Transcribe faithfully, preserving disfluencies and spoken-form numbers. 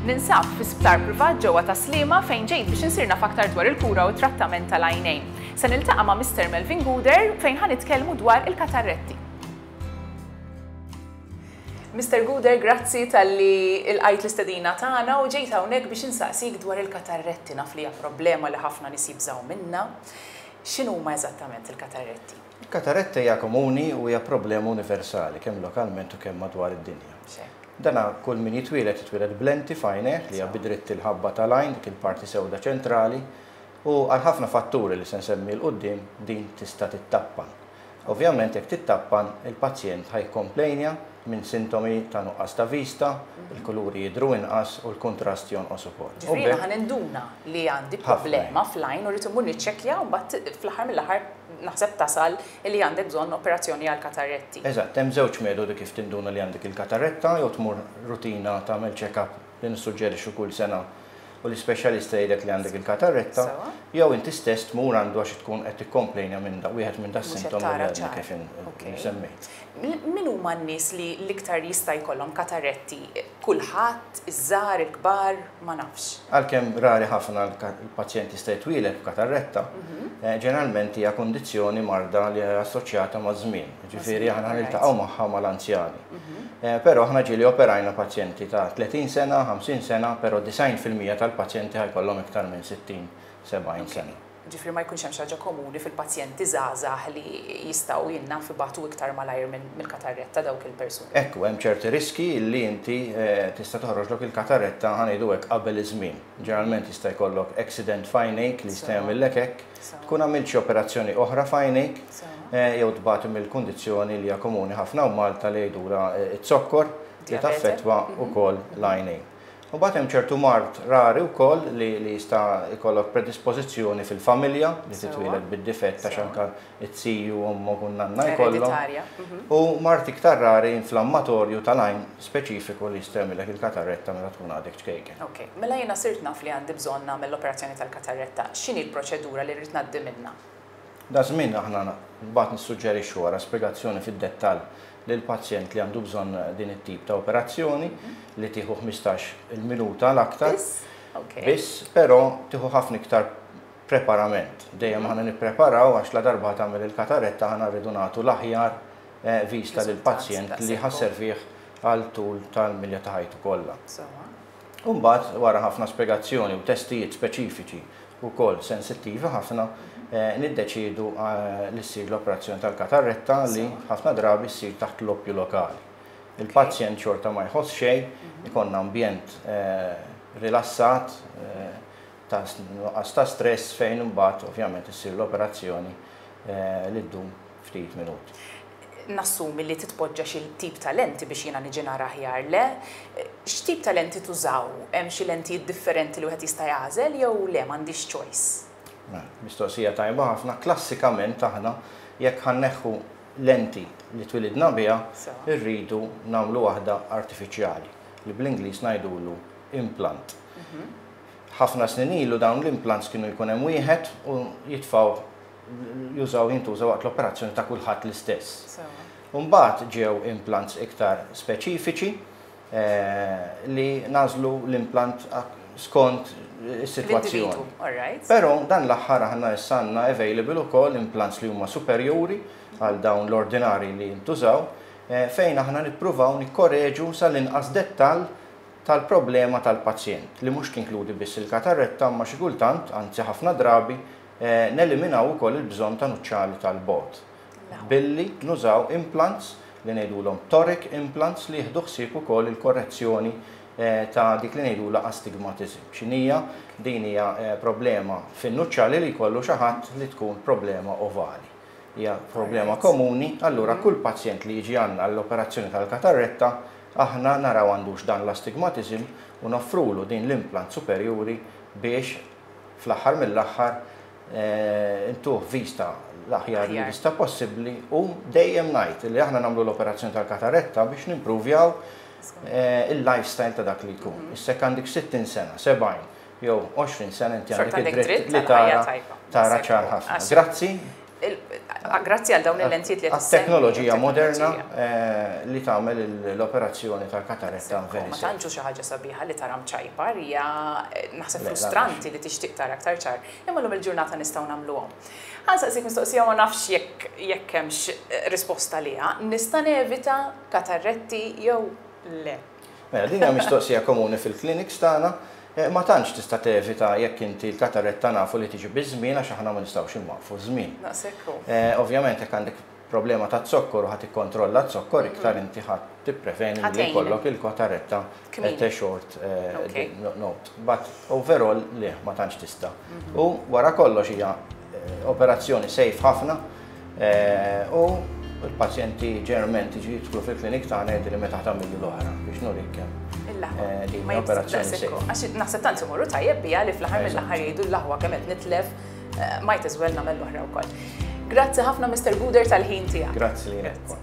Ninsab fi sptar privat ġewwa ta' Sliema fejn ġejt biex insir naf aktar dwar il-kura u t-trattament tal-għajnejn. Se niltaqa' ma' Mister Melvin Guder fejn ħa nitkellmu dwar il-katarretti. Mister Guder, grazzi talli lqajt l-istedina tagħna u ġejt hawnhekk biex insaqsik dwar il-katarretti. Naf li hija problema li ħafna nies jibżgħu minnha. X'inhuma eżattament il-katarretti? Il-katarretta hija komuni u hija problema universali kemm lokalment u kemm madwar id-dinja. Dana kull min jitwieled jitwieled b'lenti f'għajnejh li hija bidritt il-ħabba tal-għajn, dik il-parti sewda ċentrali, u għal ħafna fatturi li se nsemmi 'l quddiem din tista' tittappan. Ovvjament, jekk tittappan, il-pazjent ħa jikkomplejnja minn sintomi ta' nuqqas ta' vista, il-kuluri jidru inqas u l-kontrast jonqos ukoll. Ġifieri ħa ninduna li għandi problema fl-għajn u rrid immur niċċekkja u mbagħad fl-aħħar mill-aħħar naħseb tasal li għandek bżonn operazzjoni għal katarretti. Eżatt, hemm żewġ metodi kif tinduna li għandek il-katarretta: jew tmur rutina tagħmel check-up li nissuġġerixxu kull sena u l-ispeċjalista jgħidlek li għandek il-katarretta, jew inti stess tmur għandu għax tkun qed tikkomplejna minn da wieħed minn da sintomi li għadni kif semmejt. Min huma n-nies li l-iktar jista' jkollhom katarretti? Kulħadd, iż-żgħar, il-kbar, ma nafx. Għalkemm rari ħafna l-pazjent jista' jitwieled b'katarretta, eh, ġeneralment hija kundizzjoni marda li hija assoċjata ma' żmien. Ġifieri aħna niltaqgħu magħha mal-anzjani. Mhm. Eh, però aħna ġieli operajna pazjenti ta' tletin sena, ħamsin sena, però disgħin fil-mija tal-pazjenti ħa jkollhom iktar minn sittin sebgħin sena. Ġifieri ma jkunx hemm xi ħaġa komuni fil-pazjenti żgħażagħ li jistgħu jinnaf ibatu iktar malajr mill-katarretta dawk il-persuni? Ekku, hemm ċerti riski li inti eh, tista' toħroġlok il-katarretta, ħa ngħidu hekk, qabel iż-żmien. Ġeneralment jista' jkollok accident f'għajnejk li jista' jagħmellek hekk, tkun għamilt xi operazzjoni oħra f'għajnejk, eh, jew tbati mill-kundizzjoni li hija komuni ħafna u Malta li jgħidulha eh, it-zokkor li taffettwa wkoll l-għajnejn. U mbagħad hemm ċertu mard rari wkoll li, li jista' jkollok predispożizzjoni fil-familja li titwieled bid-difett ta' anka it-ziju, ommok u nanna jkollhom. Mhm. U mard iktar rari inflammatorju tal-għajn speċifiku li jista' jagħmilek il-katarretta meta tkun għadek ċkejken. Ok, mela jiena sirt naf li għandi bżonn nagħmel l-operazzjoni tal-katarretta. X'inhi l-proċedura li rrid ngħaddi minnha? Da żmien aħna mbagħad nissuġġerixxu, wara spjegazzjoni fid-dettall lil pazjent li għandu bżonn din it-tip ta' operazzjoni li tieħu ħmistax il-minuta l-aktar. Biss, però tieħu ħafna iktar preparament. Dejjem aħna nippreparaw għax la darba tagħmel il-katarretta aħna rridu nagħtu l-aħjar eh, vista lil pazjent li ħa sservih għal tul tal-milja ta' ħajtu kollha. Umbagħad, wara ħafna spjegazzjoni u testijiet speċifiċi u sensittivi ħafna, eh, niddeċidu eh, li ssir l-operazzjoni tal-katarretta li ħafna drabi ssir taħt l-oppju lokali. Il-pazjent xorta ma jħoss xejn, mhm. ikollna ambjent eh, rilassat, ta' nuqqas ta' stress, fejn imbagħad ovvjament issir l-operazzjoni li ddum ftit minuti. Nassumi li titpoġġa xi tip ta' lenti biex jiena niġi nara aħjar, le? X'tip ta' lenti tużaw? Hemm xi lentijiet differenti li wieħed jista' jagħżel jew le, m'għandix choice? Mela, mistoqsija tajba ħafna. Klassikament aħna jekk ħa nneħħu lenti li twilidna biha, irridu nagħmlu waħda artifiċjali li bl-Ingliż ngħidulu implant. Mhm. Ħafna snin ilu dawn l-implants kienu jkun hemm wieħed u jitfaw jużaw jintużaw waqt l-operazzjoni ta' kulħadd l-istess. Mbagħad ġew implants iktar speċifiċi eh, li nagħżlu l-implant skont is-sitwazzjoni. Però dan l-aħħar aħna issa għandna available ukoll implants li huma superjuri għal dawn l-ordinari li jintużaw, eh, fejn aħna nippruvaw nikkoreġu sal-inqas dettal tal-problema tal-pazjent li mhux tinkludi biss il-katarretta, ma xi kultant, anzi ħafna drabi, eh, neliminaw ukoll il-bżonn ta' nuċċali tal-bogħod billi nużaw implants li ngħidulhom toric implants li jieħdu ħsieb ukoll il-korrezzjoni eh, ta' dik li ngħidulha astigmatism. X'inhija? Din hija eh, problema fin-nuċċali li jkollu xi ħadd li tkun problema ovali. Hija problema komuni, allura kull pazjent li jiġi għandna l-operazzjoni tal-katarretta aħna naraw għandux dan l-astigmatism u noffrulu din l-implant superjuri biex fl-aħħar mill-aħħar eh, intuh vista l-aħjar li vista possibbli. U dejjem ngħid li aħna nagħmlu l-operazzjoni tal-katarretta biex nimpruvjaw eh, il-lifestyle ta' dak li jkun. Mhm. Issa għandek sittin sena, sebgħin jew għoxrin sena, inti għandek id-dritt li tara tara ċar ħafna. Grazzi. Grazzi għal dawn il-lentijiet li qed Teknoloġija moderna eh, li tagħmel l-operazzjoni tal-kataretta very Ma tantx xi ħaġa sabiħa li tara mċajpar, hija eh, naħseb frustranti li tixtieq tara aktar ċar. Imma llum il-ġurnata nistgħu nagħmluhom. Ħa nsaqsik mistoqsija, ma nafx jekk jekk hemmx eh, risposta liha. Nista' nevita katarretti jew le? Mela, din hija mistoqsija komuni fil-clinics tagħna. Eh, ma tantx tista' tevita jekk inti l-kataretta nafu li tiġi biż-żmien, għax aħna ma nistgħux inwaqqfu żmien. Eh, ovvjament jekk għandek problema ta' zokkor u ħadd ikkontrolla zokkor iktar, inti ħadd tippreveni li jkollok il-kataretta at a short eh, note. But overall le, ma tantx tista'. Mhm. U wara kollox hija operazzjoni safe ħafna u il-pazjenti ġeneralment jiġi jidħlu fil-klinik tagħna jgħidu li meta tagħmel l-oħra biex nurik kemm Eh, din operazzjoni safe. Għax naħseb tant imorru tajjeb bija li fl-aħħar mill-aħħar jgħidu l-aħwa kemm qed nitlef, eh, might as well nagħmel l-oħra wkoll. Grazzi ħafna, Mister Guder, tal-ħin tiegħek. Grazzi lilek.